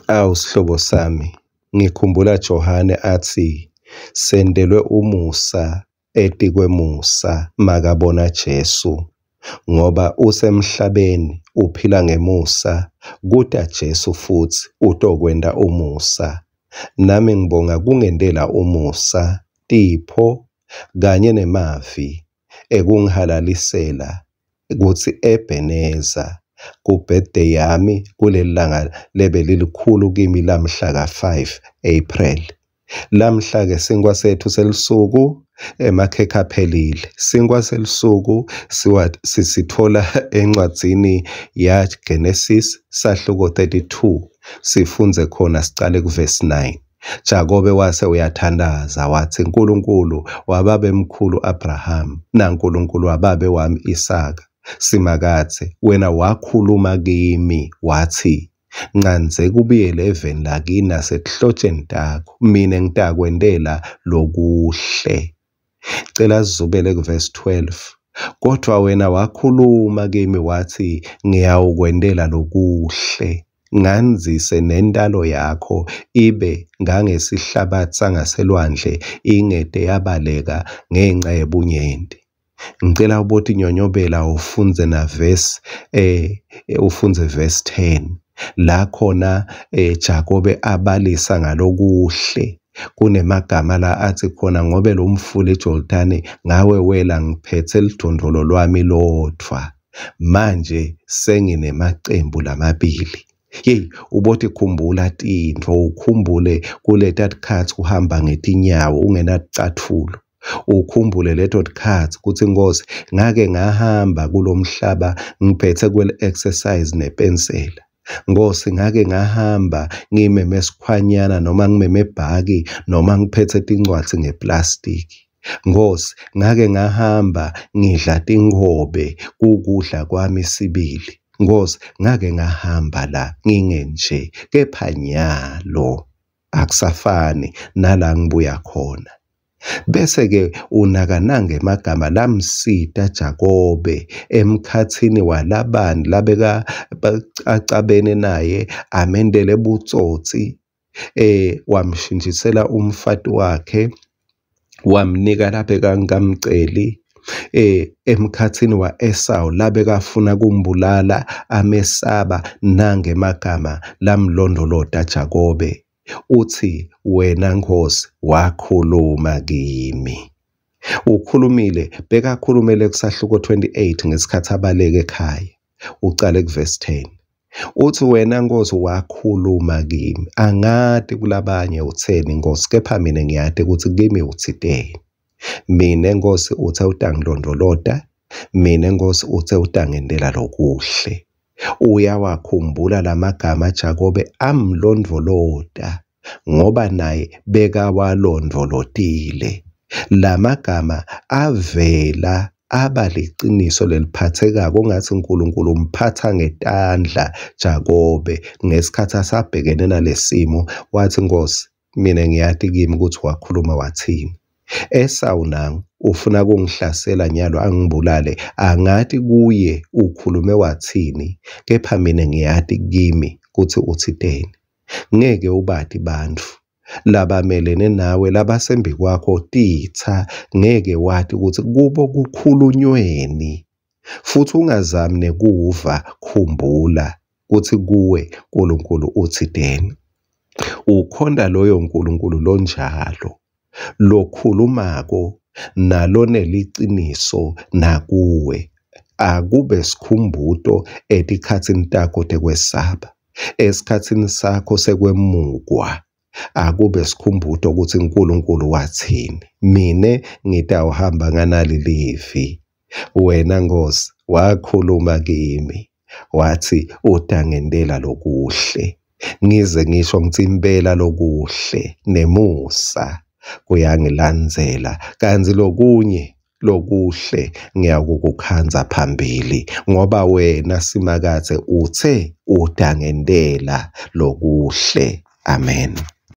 Awu sihlobo sami, ngikhumbula Johane atsi, sentelwe umusa etikwemusa makabona Jesu, ngoba usemhlabeni uphila ngemusa, kuta Jesu futsi utokwenta umusa. Nami ngibonga kungentela umusa, tipho kanye nemavi ekungihalalisela kutsi Ebenezer ku-birthday yami kuleli langa lebelilikhulu kimi lamhla ka-5 April. Lamhla-ke sinkwa sethu selusuku emakhekhe aphelile. Sinkwa selusuku sisitfola encwadzini yaGenesis sahluko 32 sifundze khona sicale kuvesi 9. Jakobe wase uyathandaza watsi, Nkulunkulu wababemkhulu Abraham naNkulunkulu wababe wami Isaka, Simakadze, wena wakhuluma kimi watsi, ncandzeka ubuyele eveni lakini nasetihlotsheni takho, mina ngitakwentela lokuhle. Cela sizubele kuvesi 12. Kodwa wena wakhuluma kimi watsi, ngiyawukwentela lokuhle, ngandzise nentalo yakho ibe ngangesihlabathi sangaselwandle, ingete yabaleka ngenca yebunyenti. Ngicela ubotinyonyobela ufundze na verse ufundze verse 10 la khona Jakobe abalisa ngalokuhle. Kunemagama la athi khona, ngobe lo mfula iJordani ngawe wela ngiphethe lidvondvolo lwami lodvwa, manje senginemacembu lamabili. Hey, ubotikhumbula tintfo, ukhumbule kuleta tikhatsi uhamba ngetinyawo ungenaticatfulo. Ukhumbule leto tikhatsi kutsi Nkosi ngake ngahamba kulomhlaba ngiphethe kwele exercise nepensela. Nkosi ngake ngahamba ngimeme sikhwanyana noma ngimeme bhaki noma ngiphethe tincwadzi ngeplastiki. Nkosi ngake ngahamba ngidla tingobe kukudla kwami sibili. Nkosi ngake ngahamba la ngingenje, kepha nyalo akusafani nala ngibuya khona. Bese-ke unakananga emagama lamsita Jakobe emkhatsini waLabani labeka acabene naye amendele butsotsi, wamshintshisela umfati wakhe wamnika labekangamceli, emkhatsini wa-Esawu labekafuna kumbulala amesaba nangemagama lamlondolota Jakobe. Uthi wena Nkosi wakhuluma kimi. Ukhulumile, bekakhulumele kusahluko 28 ngesikhathi abaleke ekhaya. Ucale kuvesi 10. Uthi wena Nkosi wakhuluma kimi. Angati kulabanye utheni Nkosi, kepha mina ngiyati ukuthi kimi uthiteni. Mina Nkosi uthe utangilondolota, mina Nkosi uthe utangentela lokuhle. Uyawakhumbula lamagama Jakobe amlondvolota ngoba naye bekawalondvolotile. Lamagama avela aba liciniso leliphathekako ngathi uNkulunkulu umphatha ngetandla Jakobe ngesikhathi asabhekene nalesimo. Wathi Nkosi mina ngiyati kimi ukuthi wakhuluma wathini. Esawu nangu ufuna kungihlasela nyalo angibulale, angati kuye ukhulume wathini, kepha mina ngiyati kimi kuthi uthiteni. Ngeke ubati bantfu labamelene nawe labasembi kwakho titsa, ngeke wati ukuthi kubo kukhulunyweni, futhi ungazami nekuva. Khumbula kuthi kuwe uNkulunkulu uthiteni. Ukhonda loyo uNkulunkulu lonjalo lokhulumako naloneliciniso nakuwe. Akube sikhumbuto etikhatsini takho tekwesaba, esikhatsini sakho sekwemukwa. Akube sikhumbuto ukuthi uNkulunkulu wathini. Mine ngitawuhamba nganali livi. Wena Nkosi wakhuluma kimi wathi utangentela lokuhle. Ngize ngisho ngithi impela lokuhle nemusa kuyangilandzela, kanti lokunye lokuhle ngiyakukukhandza phambili, ngoba wena Simakadze uthe utangentela lokuhle. Amen.